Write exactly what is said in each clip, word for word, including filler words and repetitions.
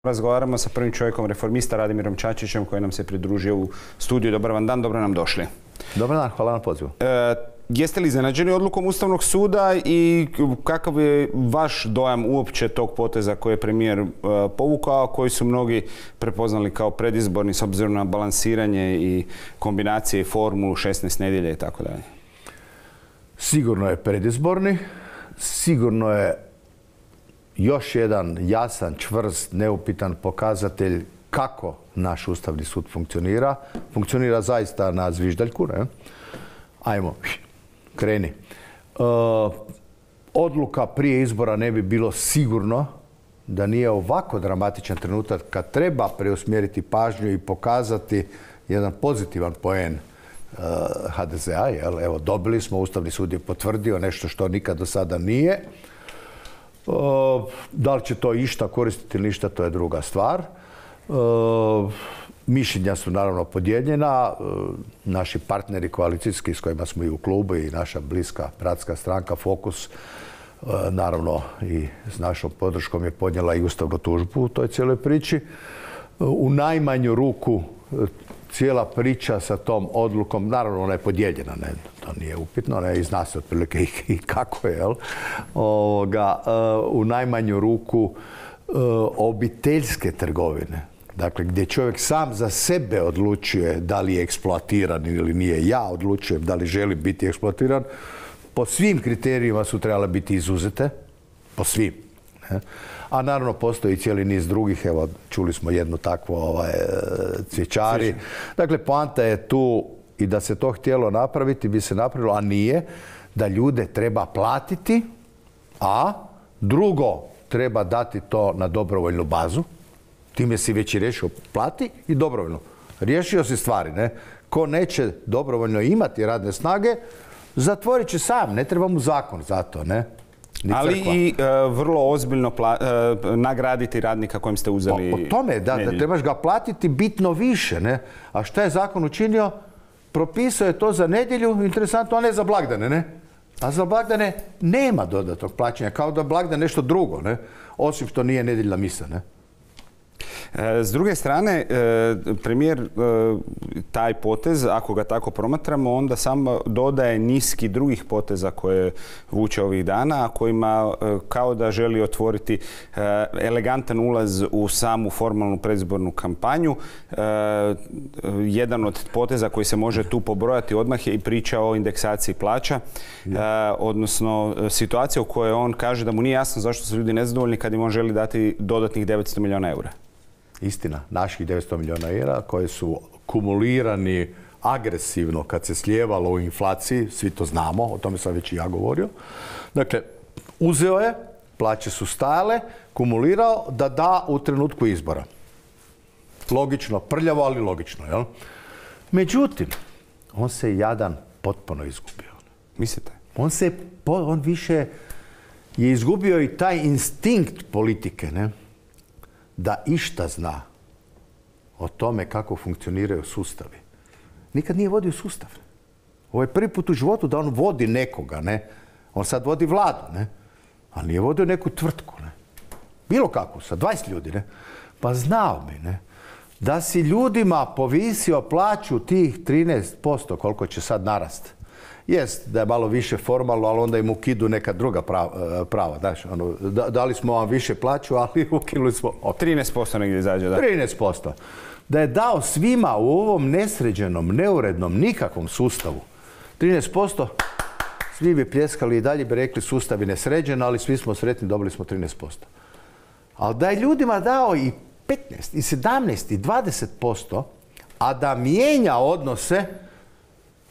Razgovaramo sa prvim čovjekom reformista Radimirom Čačićem koji nam se pridružio u studiju. Dobar vam dan, dobro nam došli. Dobar dan, hvala na pozivu. E, jeste li iznenađeni odlukom Ustavnog suda i kakav je vaš dojam uopće tog poteza koji je premijer e, povukao, koji su mnogi prepoznali kao predizborni s obzirom na balansiranje i kombinacije i formulu šesnaest nedjelja i tako dalje? Sigurno je predizborni, sigurno je još jedan jasan, čvrst, neupitan pokazatelj kako naš Ustavni sud funkcionira. Funkcionira zaista na zviždaljku, ne? Ajmo, kreni. E, odluka prije izbora ne bi bilo sigurno da nije ovako dramatičan trenutak kad treba preusmjeriti pažnju i pokazati jedan pozitivan poen ha de ze a. Evo, dobili smo, Ustavni sud je potvrdio nešto što nikad do sada nije. Uh, da li će to išta koristiti ili ništa, to je druga stvar. Uh, mišljenja su naravno podijeljena. Uh, naši partneri koalicijski s kojima smo i u klubu i naša bliska bratska stranka Fokus uh, naravno i s našom podrškom je podnijela i ustavnu tužbu u toj cijeloj priči. Uh, u najmanju ruku uh, cijela priča sa tom odlukom, naravno ona je podijeljena, ne, to nije upitno, ne, i zna se otprilike i, i kako je, jel? Ovoga, uh, u najmanju ruku uh, obiteljske trgovine, dakle gdje čovjek sam za sebe odlučuje da li je eksploatiran ili nije, ja odlučujem da li želim biti eksploatiran, po svim kriterijima su trebale biti izuzete, po svim. Ne? A naravno postoji cijeli niz drugih, evo čuli smo jednu takvu ovaj, cvjećari. Dakle, poanta je tu i da se to htjelo napraviti, bi se napravilo, a nije, da ljude treba platiti, a drugo treba dati to na dobrovoljnu bazu. Time si već i riješio, plati i dobrovoljno. Riješio si stvari, ne? Ko neće dobrovoljno imati radne snage, zatvorit će sam, ne treba mu zakon za to, ne? Ali i uh, vrlo ozbiljno pla, uh, nagraditi radnika kojem ste uzeli po, po tome, da, da trebaš ga platiti bitno više, ne? A šta je zakon učinio? Propisao je to za nedjelju, interesantno, a ne za blagdane, ne? A za blagdane nema dodatnog plaćanja, kao da blagdan nešto drugo, ne? Osim što nije nedjeljna misa, ne? S druge strane, premijer taj potez, ako ga tako promatramo, onda samo dodaje niski drugih poteza koje vuče ovih dana, a kojima kao da želi otvoriti elegantan ulaz u samu formalnu predizbornu kampanju. Jedan od poteza koji se može tu pobrojati odmah je i priča o indeksaciji plaća, odnosno situacija u kojoj on kaže da mu nije jasno zašto su ljudi nezadovoljni kad im on želi dati dodatnih devetsto milijuna eura. Istina, naših devetsto milijuna eura koji su kumulirani agresivno kad se slijevalo u inflaciji, svi to znamo, o tome sam već i ja govorio. Dakle, uzeo je, plaće su stajale, kumulirao da da u trenutku izbora. Logično, prljavo, ali logično, jel? Međutim, on se jadan potpuno izgubio. Mislite? On se, on više je izgubio i taj instinkt politike, ne? Da išta zna o tome kako funkcioniraju sustavi. Nikad nije vodio sustav. Ovo je prvi put u životu da on vodi nekoga, ne? On sad vodi vladu, ne? A nije vodio neku tvrtku, ne? Bilo kakvu, sa dvadeset ljudi, ne? Pa znao bi, ne? Da si ljudima povisio plaću tih trinaest posto, koliko će sad narast. Jest da je malo više formalno, ali onda im ukidu neka druga prava. prava znaš, ono, da, dali smo vam više plaću, ali ukinuli smo... Okay. trinaest posto negdje izađe, da? trinaest posto. Da je dao svima u ovom nesređenom, neurednom, nikakvom sustavu trinaest posto, svi bi pljeskali i dalje bi rekli sustav je nesređen, ali svi smo sretni, dobili smo trinaest posto. Ali da je ljudima dao i petnaest, i sedamnaest, i dvadeset posto, a da mijenja odnose,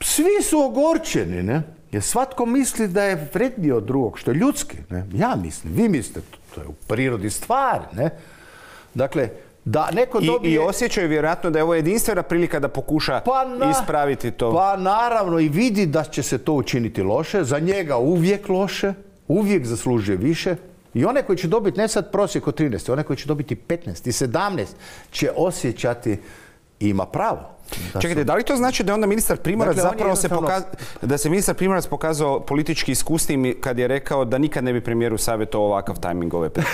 svi su ogorčeni, ne? Jer svatko misli da je vredniji od drugog, što je ljudski, ne? Ja mislim, vi mislite, to je u prirodi stvari, ne? Dakle, da neko dobije... I, i osjećaju vjerojatno da je ovo jedinstvena prilika da pokuša pa na... ispraviti to. Pa naravno, i vidi da će se to učiniti loše, za njega uvijek loše, uvijek zaslužuje više. I one koji će dobiti, ne sad prosjek od trinaest, one koji će dobiti petnaest i sedamnaest će osjećati ima pravo. Da Čekajte, su... da li to znači da je onda ministar Primorac dakle, zapravo se pokazao, da se ministar Primorac pokazao politički iskusnim kad je rekao da nikad ne bi premijeru savjetovao ovakav tajming ove priče?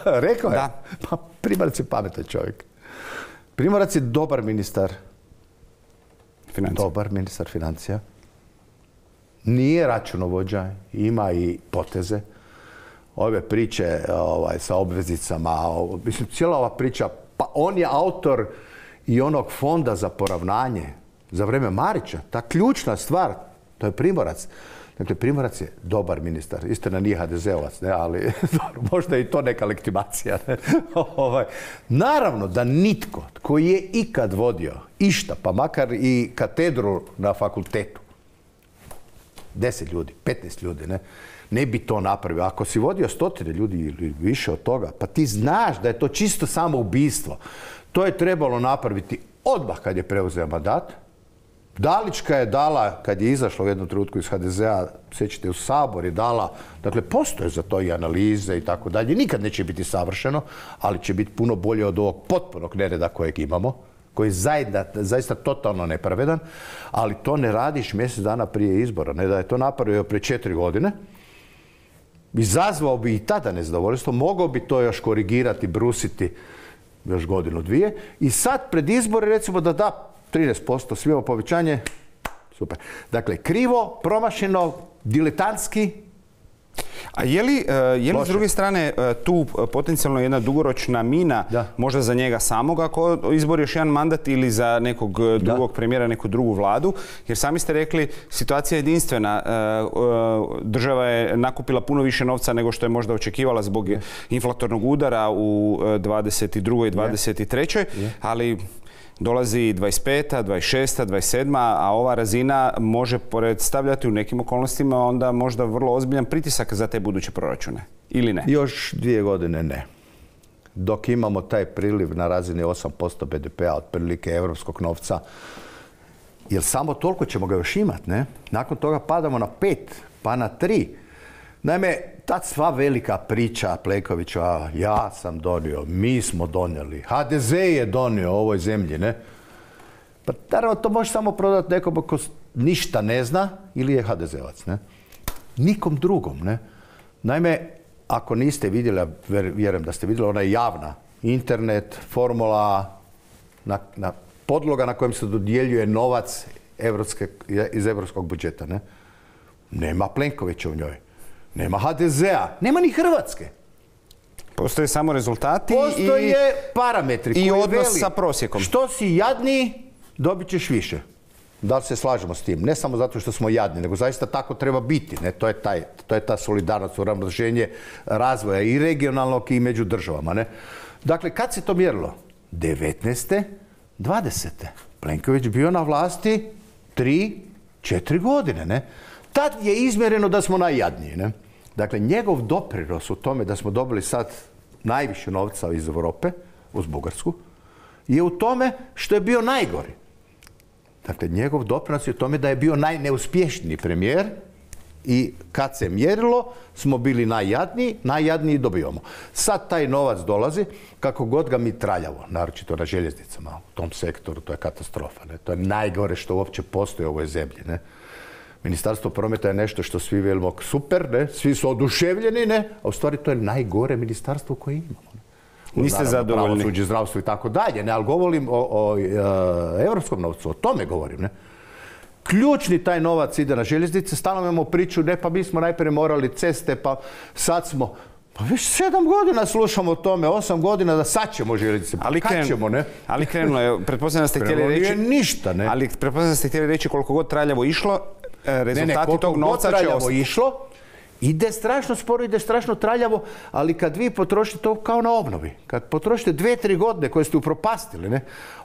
Rekao je? Da. Pa Primorac je pametan čovjek. Primorac je dobar ministar. Financija. Dobar ministar financija. Nije računovođa, ima i poteze. Ove priče ovaj, sa obveznicama, mislim, cijela ova priča, pa on je autor i onog fonda za poravnanje za vrijeme Marića. Ta ključna stvar, to je Primorac. Dakle, Primorac je dobar ministar. Istina nije ha de zeovac, ne, ali možda je i to neka legitimacija. Ne? ovaj. Naravno da nitko tko je ikad vodio išta, pa makar i katedru na fakultetu, deset ljudi, petnaest ljudi, ne, ne bi to napravio. Ako si vodio stotine ljudi ili više od toga, pa ti znaš da je to čisto samoubistvo. To je trebalo napraviti odmah kad je preuzeo mandat. Dalićka je dala, kad je izašla u jednom trenutku iz ha de zea, sjećate, u Sabor je dala, dakle, postoje za to i analize i tako dalje. Nikad neće biti savršeno, ali će biti puno bolje od ovog potpunog nereda kojeg imamo, koji je zaista, zaista totalno nepravedan, ali to ne radiš mjesec dana prije izbora. Ne da je to napravio prije četiri godine, izazvao bi i tada nezadovoljstvo, mogao bi to još korigirati, brusiti još godinu, dvije, i sad pred izbore recimo da da trinaest posto svima povećanje, super. Dakle, krivo, promašeno, diletantski. A je li, je li s druge strane tu potencijalno jedna dugoročna mina, da, možda za njega samog ako izbori još jedan mandat ili za nekog drugog da. premijera, neku drugu vladu? Jer sami ste rekli, situacija je jedinstvena. Država je nakupila puno više novca nego što je možda očekivala zbog je. inflatornog udara u dvadeset drugoj i dvadeset trećoj Je. ali dolazi dvadeset peta, dvadeset šesta, dvadeset sedma, a ova razina može predstavljati u nekim okolnostima onda možda vrlo ozbiljan pritisak za te buduće proračune. Ili ne? Još dvije godine ne. Dok imamo taj priliv na razini osam posto be de pea, otprilike evropskog novca, jer samo toliko ćemo ga još imati, ne? Nakon toga padamo na pet, pa na tri. Naime, ta sva velika priča Plenkovića, ja sam donio, mi smo donijeli, ha de ze je donio ovoj zemlji, ne? Pa naravno to može samo prodati nekom ko ništa ne zna ili je ha de zeovac, ne? Nikom drugom, ne? Naime, ako niste vidjeli, vjerujem da ste vidjeli, ona je javna, internet, formula, na, na podloga na kojem se dodjeljuje novac evropske, iz evropskog budžeta, ne? Nema Plenkovića u njoj. Nema ha de zea, nema ni Hrvatske. Postoje samo rezultati Postoje i parametri i koji odnos veli, sa prosjekom. Što si jadniji, dobit ćeš više. Da li se slažemo s tim? Ne samo zato što smo jadni, nego zaista tako treba biti. Ne? To je, taj, to je ta solidarnost, uravnoteženje razvoja i regionalnog i među državama. Ne? Dakle, kad se to mjerilo? devetnaeste, dvadesete Plenković bio na vlasti tri, četiri godine. Ne? Tad je izmjereno da smo najjadniji. Ne? Dakle, njegov doprinos u tome da smo dobili sad najviše novca iz Europe, uz Bugarsku, je u tome što je bio najgori. Dakle, njegov doprinos je u tome da je bio najneuspješniji premijer i kad se mjerilo smo bili najjadniji, najjadniji dobivamo. Sad taj novac dolazi, kako god ga mi traljavo, naročito na željeznicama, u tom sektoru, to je katastrofa. Ne? To je najgore što uopće postoji u ovoj zemlji. Ne? Ministarstvo prometa je nešto što svi velimo super, ne? Svi su oduševljeni, ne? A u stvari to je najgore ministarstvo koje imamo. Ne? Niste zadovoljni? Pravosuđe, zdravstvo i tako dalje, ne? Ali govorim o, o, o evropskom novcu, o tome govorim, ne? Ključni taj novac ide na željeznice, stalno imamo priču, ne, pa mi smo najprije morali ceste, pa sad smo, pa već sedam godina slušamo o tome, osam godina da sad ćemo željeznice, pa ali kad kren, ćemo, ne? Ali krenulo je, pretpostavljam da ste htjeli reći... ništa, ne? Ali pretpostavljam da ste htjeli reći koliko god traljavo išlo, rezultati ne, ne, tog novca će ostati. Išlo, ide strašno sporo, ide strašno traljavo, ali kad vi potrošite to kao na obnovi, kad potrošite dve, tri godine koje ste upropastili, ne,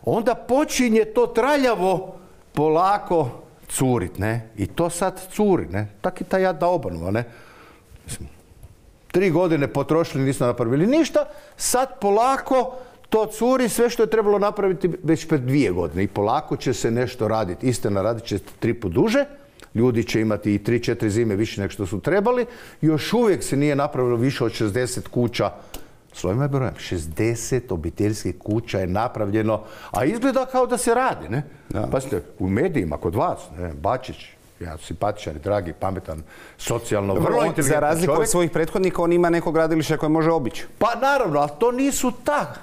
onda počinje to traljavo polako curit, ne, i to sad curi, ne, tak i ta jadna obnova, ne. Mislim, tri godine potrošili, nismo napravili ništa, sad polako to curi, sve što je trebalo napraviti već pred dvije godine i polako će se nešto raditi. Istina, radit će tri put duže, ljudi će imati i tri, četiri zime više nego što su trebali. Još uvijek se nije napravilo više od šezdeset kuća Slovima i brojem. šezdeset obiteljskih kuća je napravljeno, a izgleda kao da se radi, ne? Da. Pazite, u medijima, kod vas, ne? Bačić, ja simpatičan, dragi, pametan, socijalno, vrlo On, inteligentan za razliku čovjek. od svojih prethodnika, on ima neko gradilište koje može obići. Pa naravno, ali to nisu ta.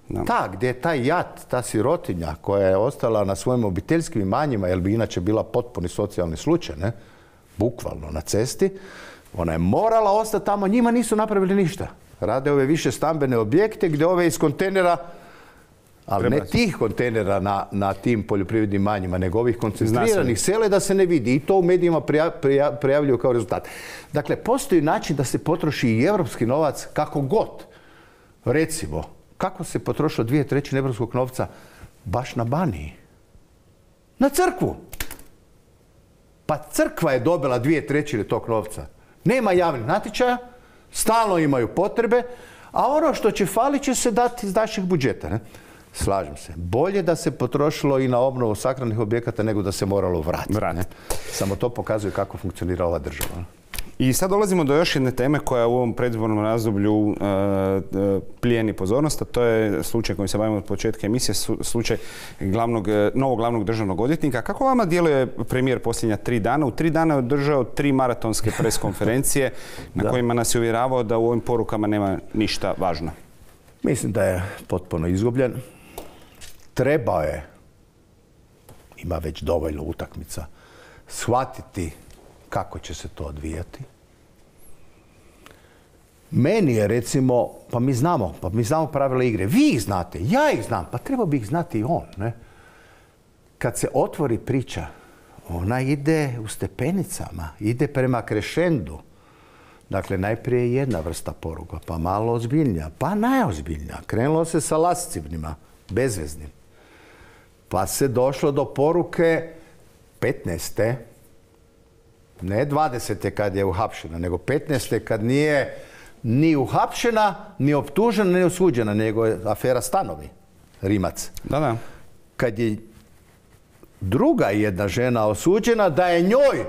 Da. Ta, gdje je taj jat, ta sirotinja koja je ostala na svojim obiteljskim imanjima, jer bi inače bila potpuni socijalni slučaj, ne? Bukvalno na cesti, ona je morala ostati tamo, njima nisu napravili ništa. Rade ove više stambene objekte gdje ove iz kontejnera, ali ne tih kontejnera na, na tim poljoprivrednim imanjima, nego ovih koncentriranih sele da se ne vidi. I to u medijima prija, prija, prijavljuju kao rezultat. Dakle, postoji način da se potroši i evropski novac kako god. Recimo, kako se potrošilo dvije trećine evropskog novca baš na Baniji? Na crkvu. Pa crkva je dobila dvije trećine tog novca. Nema javnih natječaja, stalno imaju potrebe, a ono što će fali će se dati iz naših budžeta. Ne? Slažem se. Bolje da se potrošilo i na obnovu sakralnih objekata nego da se moralo vratiti. Vrat. Ne? Samo to pokazuje kako funkcionira ova država. I sad dolazimo do još jedne teme koja u ovom predizbornom razdoblju uh, uh, plijeni pozornost, a to je slučaj kojim se bavimo od početka emisije, slučaj glavnog, novog glavnog državnog odvjetnika. Kako vama djeluje premijer posljednja tri dana? U tri dana je održao tri maratonske pres konferencije na kojima nas je uvjeravao da u ovim porukama nema ništa važno. Mislim da je potpuno izgubljen. Trebao je, ima već dovoljno utakmica, shvatiti kako će se to odvijati. Meni je recimo, pa mi znamo, pa mi znamo pravila igre. Vi ih znate, ja ih znam, pa treba bi ih znati i on. Ne? Kad se otvori priča, ona ide u stepenicama, ide prema krešendu. Dakle, najprije jedna vrsta poruka, pa malo ozbiljnija, pa najozbiljnija. Krenulo se sa lascivnima, bezveznim. Pa se došlo do poruke petnaeste. Ne dvadesete kad je uhapšena, nego petnaeste kad nije ni uhapšena, ni optužena, ni osuđena, nego je afera Stanovi, Rimac. Da, da. Kad je druga jedna žena osuđena, da je njoj,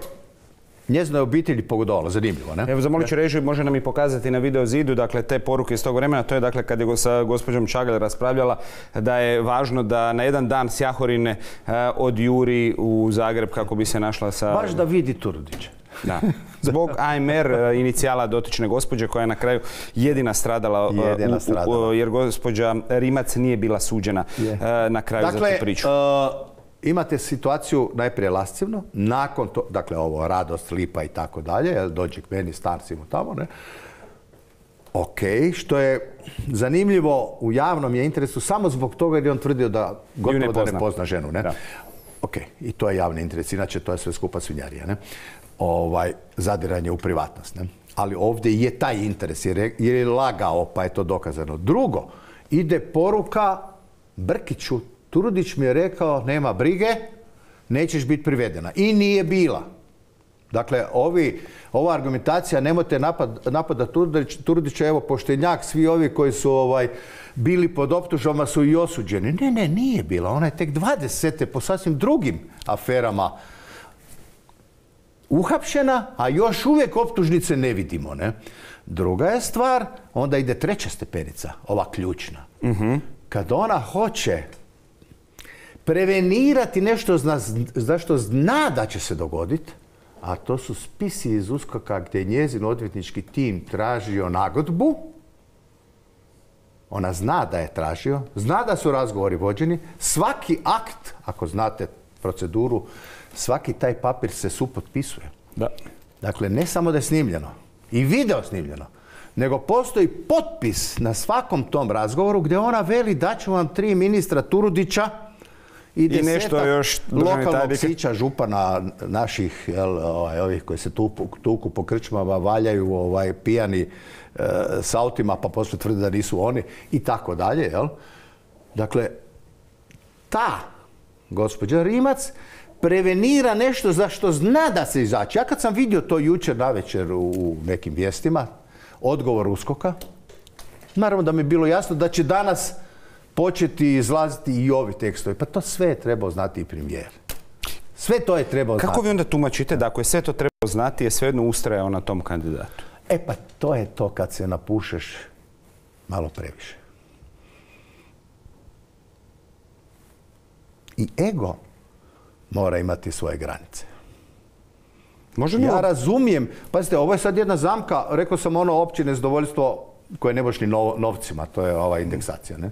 njezinoj obitelji pogodovala. Zanimljivo, ne? Evo, zamolit ću režiju, može nam i pokazati na video zidu, dakle, te poruke iz tog vremena. To je, dakle, kad je sa gospođom Čagalj raspravljala da je važno da na jedan dan s Jahorine uh, odjuri u Zagreb kako bi se našla sa... Baš da vidi Turudića. Da. Zbog A M R uh, inicijala dotične gospođe koja je na kraju jedina stradala, uh, jedina u, stradala. U, jer gospođa Rimac nije bila suđena uh, na kraju dakle, za tu priču. Uh, imate situaciju najprije lascivno, nakon to, dakle ovo, radost, lipa i tako dalje, dođe k meni, star si mu tamo, ne? Ok, što je zanimljivo u javnom je interesu samo zbog toga jer je on tvrdio da gotovo ne da ne pozna ženu, ne? Da. Ok, i to je javni interes, inače to je sve skupa svinjarija, ne? Ovaj, zadiranje u privatnost, ne? Ali ovdje je taj interes jer je, jer je lagao, pa je to dokazano. Drugo, ide poruka Brkiću, Turudić mi je rekao, nema brige, nećeš biti privedena. I nije bila. Dakle, ovi, ova argumentacija, nemojte napad, napada Turudić, Turudića, evo, poštenjak, svi ovi koji su ovaj, bili pod optužbama su i osuđeni. Ne, ne, nije bila. Ona je tek dvadesete po sasvim drugim aferama uhapšena, a još uvijek optužnice ne vidimo. Ne? Druga je stvar, onda ide treća stepenica, ova ključna. Uh-huh. Kad ona hoće prevenirati nešto za što zna da će se dogoditi, a to su spisi iz USKOK-a gdje je njezin odvjetnički tim tražio nagodbu. Ona zna da je tražio, zna da su razgovori vođeni. Svaki akt, ako znate proceduru, svaki taj papir se supotpisuje. Da. Dakle, ne samo da je snimljeno i video snimljeno, nego postoji potpis na svakom tom razgovoru gdje ona veli da ću vam tri ministra Turudića i desetak još lokalnog sića župana naših, jel, ovaj, ovih koji se tuku, tuku po krčmama, valjaju ovaj, pijani e, s autima, pa poslije tvrde da nisu oni i tako dalje. Jel? Dakle, ta gospođa Rimac prevenira nešto za što zna da se izaći. Ja kad sam vidio to jučer navečer u nekim vijestima, odgovor USKOK-a, naravno da mi je bilo jasno da će danas početi izlaziti i ovi tekstovi. Pa to sve je trebao znati i premijer. Sve to je trebao znati. Kako vi onda tumačite da ako je sve to trebao znati, je svejedno ustrajao na tom kandidatu? E pa to je to kad se napušeš malo previše. I ego mora imati svoje granice. Može li Ja ovo- razumijem, pazite, ovo je sad jedna zamka, rekao sam ono opće nezadovoljstvo koje ne možeš ni nov- novcima, to je ova indeksacija, ne?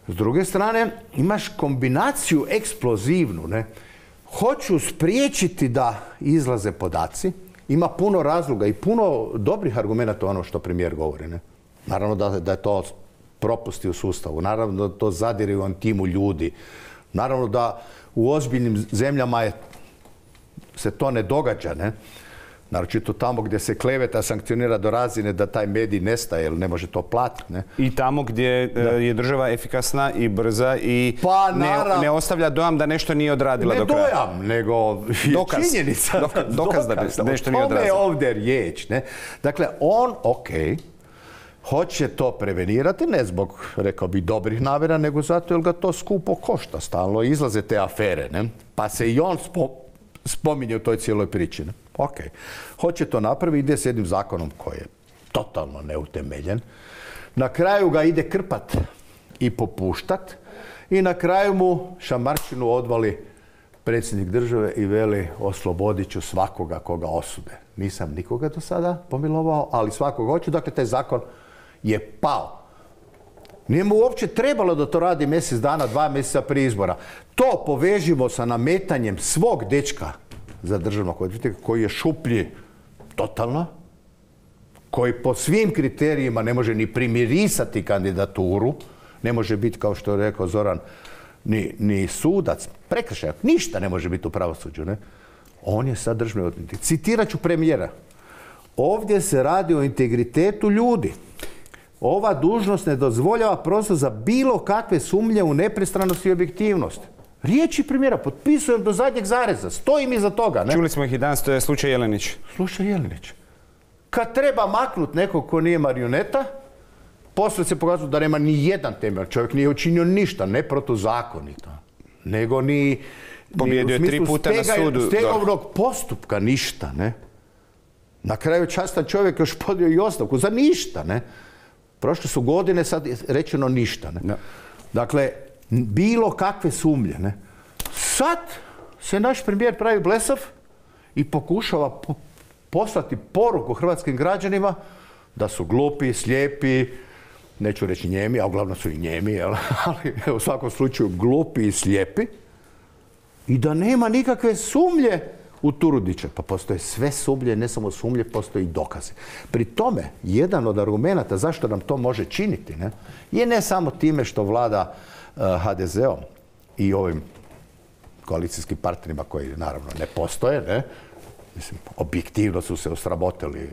S druge strane, imaš kombinaciju eksplozivnu, ne? Hoću spriječiti da izlaze podaci, ima puno razloga i puno dobrih argumenata ono što premijer govori, ne? Naravno da, da je to propusti u sustavu, naravno da to zadire u intimu ljudi, naravno da u ozbiljnim zemljama je, se to ne događa, ne? Naročito tamo gdje se kleveta sankcionira do razine da taj medij nestaje jer ne može to platiti, ne? I tamo gdje e, je država efikasna i brza i Pa, ne, naravno. ne ostavlja dojam da nešto nije odradila Ne do kraja. dojam, nego je Dokaz. činjenica. Doka- dokaz da Dokaz. nešto O nije tome je odrazilo. ovdje riječ, ne? Dakle, on, ok, hoće to prevenirati, ne zbog, rekao bi, dobrih namjera, nego zato jer ga to skupo košta. Stalno izlaze te afere, ne? Pa se i on spo, spominje u toj cijeloj priči, ne? Ok. Hoće to napraviti, ide s jednim zakonom koji je totalno neutemeljen. Na kraju ga ide krpat i popuštat i na kraju mu šamarčinu odvali predsjednik države i veli oslobodit ću svakoga koga osude. Nisam nikoga do sada pomilovao, ali svakoga hoću. Dakle, taj zakon je pao. Nije mu uopće trebalo da to radi mjesec dana, dva mjeseca prije izbora. To povežimo sa nametanjem svog dečka za državnog odvjetnika koji je šuplji totalno, koji po svim kriterijima ne može ni primirisati kandidaturu, ne može biti, kao što je rekao Zoran, ni, ni sudac, prekršaj, ništa ne može biti u pravosuđu, ne? On je sad državni odvjetnik. Citirat ću premijera. Ovdje se radi o integritetu ljudi. Ova dužnost ne dozvoljava prostor za bilo kakve sumnje u nepristranost i objektivnost. Riječi premijera, potpisujem do zadnjeg zareza, stojim iza toga, ne? Čuli smo ih i danas, to je slučaj Jelenić. Slušaj Jelenić, kad treba maknut nekog ko nije marioneta, poslije se pokazuje da nema ni jedan temelj. Čovjek nije učinio ništa, ne protuzakonito, nego ni, Pobjedio ni je tri puta na sudu. stegovnog postupka, ništa, ne? Na kraju častan čovjek još podnio i ostavku, za ništa, ne? Prošle su godine, sad je rečeno ništa, ne? Da. Dakle, bilo kakve sumnje, ne? Sad se naš premijer pravi blesav i pokušava po- poslati poruku hrvatskim građanima da su glupi, slijepi, neću reći njemi, a uglavnom su i njemi, jel? Ali u svakom slučaju glupi i slijepi i da nema nikakve sumnje u Turudića. Pa postoje sve sumnje, ne samo sumnje, postoje i dokaze. Pri tome, jedan od argumenata zašto nam to može činiti, ne, je ne samo time što vlada uh, ha de ze om i ovim koalicijskim partnerima koji naravno ne postoje, ne, mislim, objektivno su se osramotili.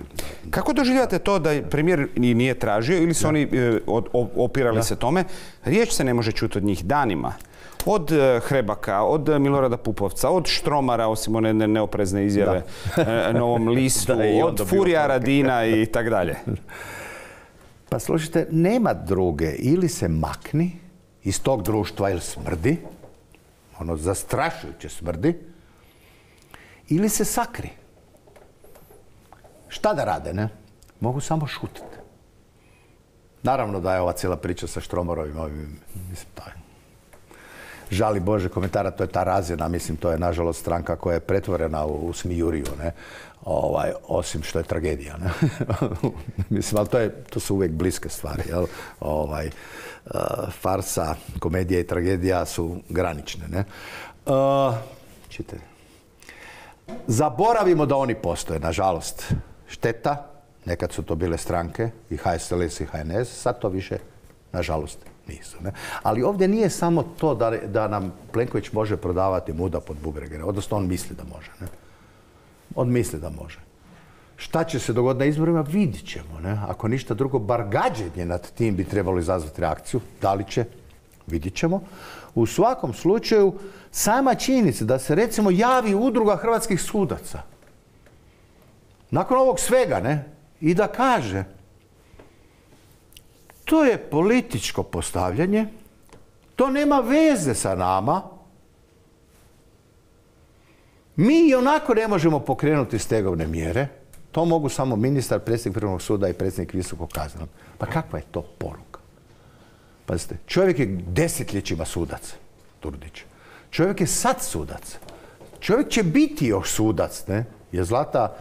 Kako doživljate to da je premijer i nije tražio ili su oni e, od- o- opirali se tome? Riječ se ne može čuti od njih danima. Od e, Hrebaka, od e, Milorada Pupovca, od Štromara, osim one ne- neoprezne izjave e, Novom listu, Da, i on od dobio Furija poruke. Radina i tak dalje. Pa slušajte, nema druge. Ili se makni iz tog društva jer smrdi, ono zastrašujuće smrdi, ili se sakri. Šta da rade, ne? Mogu samo šutiti. Naravno da je ova cijela priča sa Štromarovim, ovim, mislim, to je žali Bože komentara, to je ta razina, mislim, to je nažalost stranka koja je pretvorena u, u smijuriju, ne? Ovaj, osim što je tragedija, ne? Mislim, ali to, je, to su uvijek bliske stvari, jel? Ovaj, uh, farsa, komedija i tragedija su granične, ne? Uh, čitajte. Zaboravimo da oni postoje, nažalost. Šteta, nekad su to bile stranke, i ha es el es i ha en es, sad to više, nažalost, nisu. Ne? Ali ovdje nije samo to da, da nam Plenković može prodavati muda pod bubrege, odnosno on misli da može. Ne? On misli da može. Šta će se dogoditi na izborima, vidit ćemo. Ne? Ako ništa drugo, bar gađenje nad tim bi trebalo izazvati reakciju. Da li će? Vidit ćemo. U svakom slučaju, sama činjenica da se recimo javi udruga hrvatskih sudaca nakon ovog svega, ne, i da kaže to je političko postavljanje, to nema veze sa nama, mi i onako ne možemo pokrenuti stegovne mjere, To mogu samo ministar, predsjednik Vrhovnog suda i predsjednik Visokog kaznenog. Pa kakva je to poruka? Pazite, čovjek je desetljećima sudac, Turudić. Čovjek je sad sudac. Čovjek će biti još sudac, ne? Je Zlata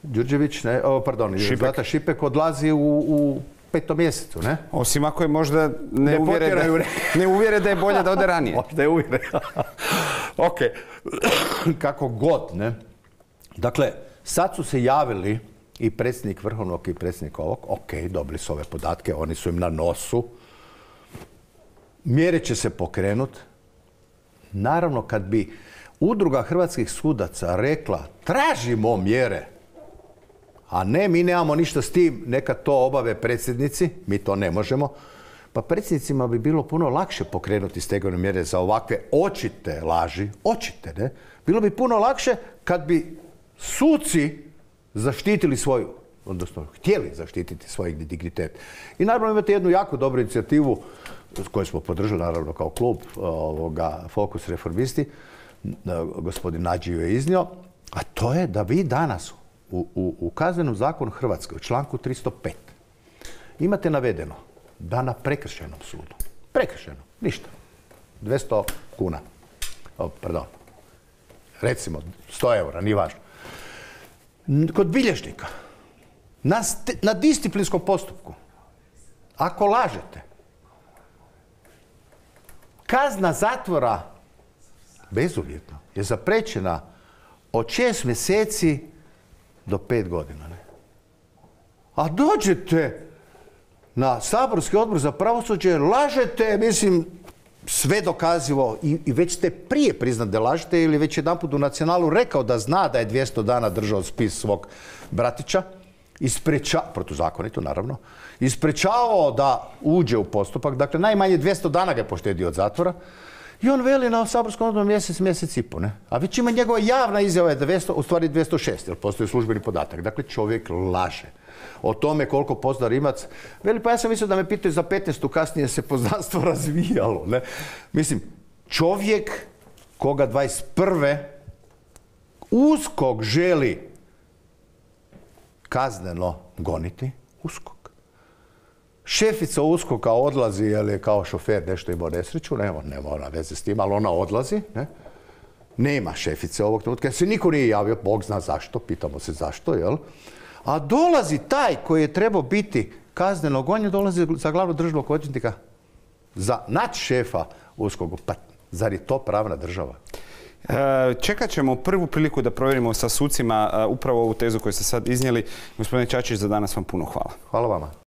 Đurđević, ne? O, pardon, Šipek. Zlata Šipek odlazi u, u petom mjesecu, ne? Osim ako je možda ne, Ne uvjere, da, potjeraju. ne uvjere da je bolje da ode ranije. Možda je uvjeren. Ok, kako god, ne? Dakle, sad su se javili i predsjednik Vrhovnog i predsjednik ovog, ok, dobili su ove podatke, oni su im na nosu. Mjere će se pokrenuti. Naravno, kad bi Udruga hrvatskih sudaca rekla tražimo mjere, a ne, mi nemamo ništa s tim, neka to obave predsjednici, mi to ne možemo, pa predsjednicima bi bilo puno lakše pokrenuti stegovne mjere za ovakve očite laži, očite, ne? Bilo bi puno lakše kad bi suci zaštitili svoju, odnosno htjeli zaštititi svoj dignitet. I naravno imate jednu jako dobru inicijativu koju smo podržali naravno kao klub ovoga, Fokus Reformisti, gospodin Nađi ju je iznio, a to je da vi danas u, u, u Kaznenom zakonu Hrvatske u članku tristo pet imate navedeno da na prekršajnom sudu, prekršajno, ništa, dvjesto kuna, o, pardon, recimo sto eura, nije važno, kod bilježnika, na, na disciplinskom postupku, ako lažete, kazna zatvora bezuvjetno je zapriječena od šest mjeseci do pet godina. Ne? A dođete na saborski odbor za pravosuđe, lažete, mislim, sve dokazivo i, i već ste prije priznat da lažete ili već jedanput u Nacionalu rekao da zna da je dvjesto dana držao spis svog bratića, ispreča, protuzakonito naravno, isprečavao da uđe u postupak, dakle najmanje dvjesto dana ga je poštedio od zatvora i on veli na saborskom odboru mjesec, mjesec i po, ne? A već ima njegova javna izjava je dvjesto, u stvari dvjesto šest, jer postoji službeni podatak. Dakle, čovjek laže o tome koliko pozna Rimac. Veli, pa ja sam mislio da me pitaju za petnaestu, kasnije se poznanstvo razvijalo, ne? Mislim, čovjek koga dvadeset prve USKOK želi kazneno goniti, USKOK. Šefica USKOK-a odlazi, jer je kao šofer nešto imao nesreću, nema, nema ona veze s tim, ali ona odlazi, ne? Nema šefice ovog trenutka, se niko nije javio, Bog zna zašto, pitamo se zašto, jel? A dolazi taj koji je trebao biti kazneno gonjen, dolazi za glavnog državnog odvjetnika, za nadšefa USKOK-a. Pa zar je to pravna država? Čekat ćemo prvu priliku da provjerimo sa sucima upravo ovu tezu koju ste sad iznijeli. Gospodine Čačić, za danas vam puno hvala. Hvala vama.